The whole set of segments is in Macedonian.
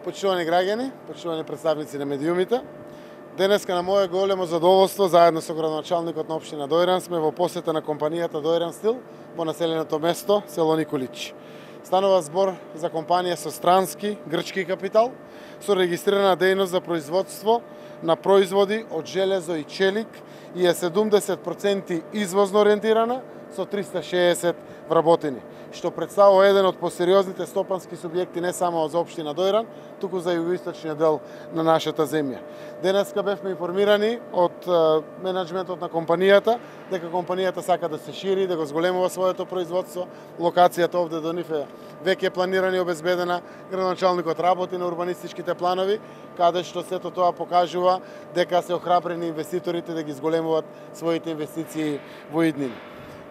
Почитувани граѓани, почитувани представници на медиумите, денеска на мое големо задоволство, заедно со градоначалникот на општина Дојран, сме во посета на компанијата Дојран Стил во населеното место село Николич. Станува збор за компанија со странски, грчки капитал, со регистрирана дејност за производство на производи од железо и челик и е 70% извозно ориентирана, со 360 вработени, што представува еден од посериозните стопански субјекти не само за општина Дојран, туку за југоисточниот дел на нашата земја. Денеска бевме информирани од менеджментот на компанијата дека компанијата сака да се шири, да го зголемува своето производство. Локацијата овде до нив е веќе планирана и обезбедена. Градоначалникот работи на урбанистичките планови, каде што сето тоа покажува дека се охрабрени инвеститорите да ги зголемуваат своите инвестиции во иднини.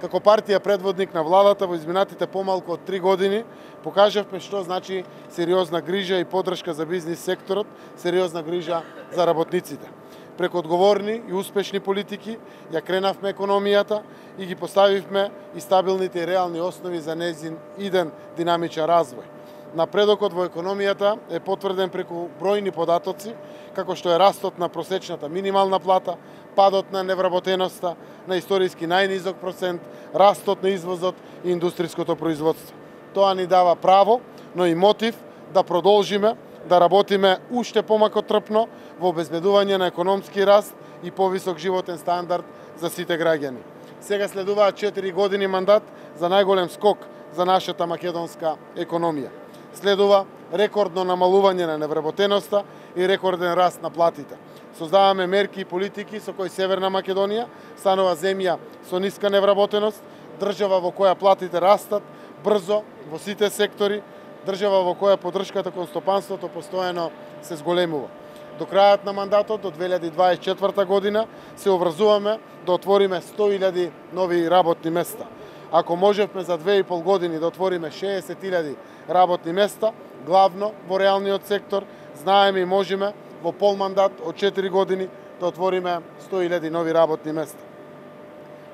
Како партија предводник на владата во изминатите помалку од 3 години покажавме што значи сериозна грижа и поддршка за бизнис секторот, сериозна грижа за работниците. Преку одговорни и успешни политики ја кренавме економијата и ги поставивме и стабилните и реални основи за нејзин иден динамичен развој. Напредокот во економијата е потврден преку бројни податоци, како што е растот на просечната минимална плата, падот на невработеноста на историски најнизок процент, растот на извозот и индустриското производство. Тоа ни дава право, но и мотив да продолжиме да работиме уште помако трпно во обезбедување на економски раст и повисок животен стандард за сите граѓани. Сега следуваат 4 години мандат за најголем скок за нашата македонска економија. Следува рекордно намалување на невработеноста и рекорден раст на платите. Создаваме мерки и политики со кои Северна Македонија станува земја со ниска невработеност, држава во која платите растат брзо во сите сектори, држава во која поддршката кон стопанството постојано се зголемува. До крајот на мандатот, до 2024 година, се обврзуваме да отвориме 100.000 нови работни места. Ако можевме за 2,5 години да отвориме 60.000 работни места, главно во реалниот сектор, знаеме и можеме во пол мандат од 4 години да отвориме 100.000 нови работни места.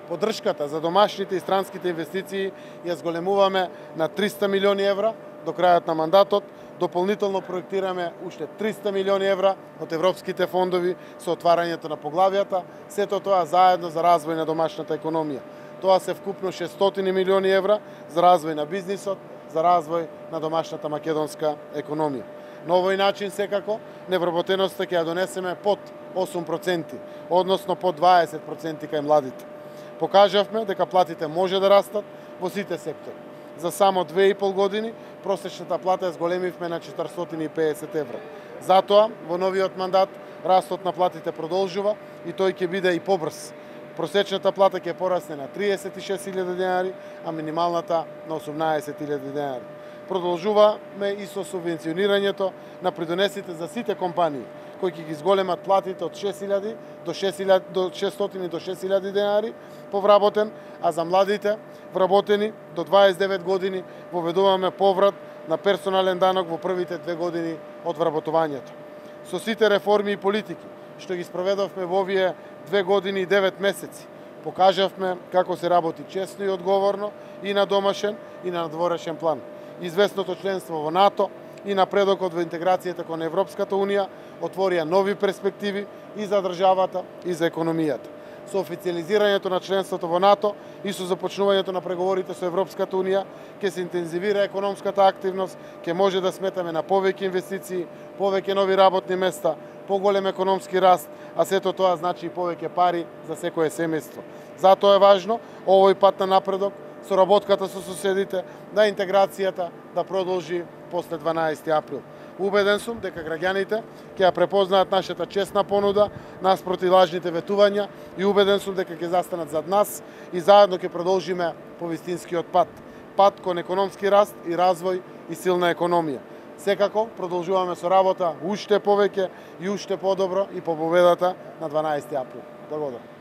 Поддршката за домашните и странските инвестиции ја зголемуваме на 300 милиони евра до крајот на мандатот. Дополнително проектираме уште 300 милиони евра од европските фондови со отварањето на поглавијата, сето тоа заедно за развој на домашната економија. Тоа се вкупно 600 милиони евра за развој на бизнисот, за развој на домашната македонска економија. На овој начин секако невработеноста ќе ја донесеме под 8%, односно под 20% кај младите. Покажавме дека платите може да растат во сите сектори. За само 2,5 години просечната плата ја зголемивме на 450 евра. Затоа во новиот мандат растот на платите продолжува и тој ќе биде и побрз. Просечната плата ќе порасне на 36.000 денари, а минималната на 18.000 денари. Продолжуваме и со субвенционирањето на придонесите за сите компании, кои ќе ги зголемат платите од 600 до 6.000 денари по вработен, а за младите вработени до 29 години воведуваме поврат на персонален данок во првите 2 години од вработувањето. Со сите реформи и политики што ги спроведовме во овие 2 години и 9 месеци, покажавме како се работи честно и одговорно и на домашен и на надворешен план. Известното членство во НАТО и напредокот во интеграцијата кон Европската Унија отворија нови перспективи и за државата и за економијата. Со официализирањето на членството во НАТО и со започнувањето на преговорите со Европската Унија ќе се интензивира економската активност, ќе може да сметаме на повеќе инвестиции, повеќе нови работни места, поголем економски раст, а сето тоа значи и повеќе пари за секое семејство. Затоа е важно овој пат на напредок, соработката со соседите, на интеграцијата да продолжи после 12 април. Убеден сум дека граѓаните ќе ја препознаат нашата честна понуда наспроти лажните ветувања и убеден сум дека ќе застанат зад нас и заедно ќе продолжиме по вистинскиот пат. Пат кон економски раст и развој и силна економија. Секако продолжуваме со работа уште повеќе и уште подобро и по победата на 12 април. Благодарам.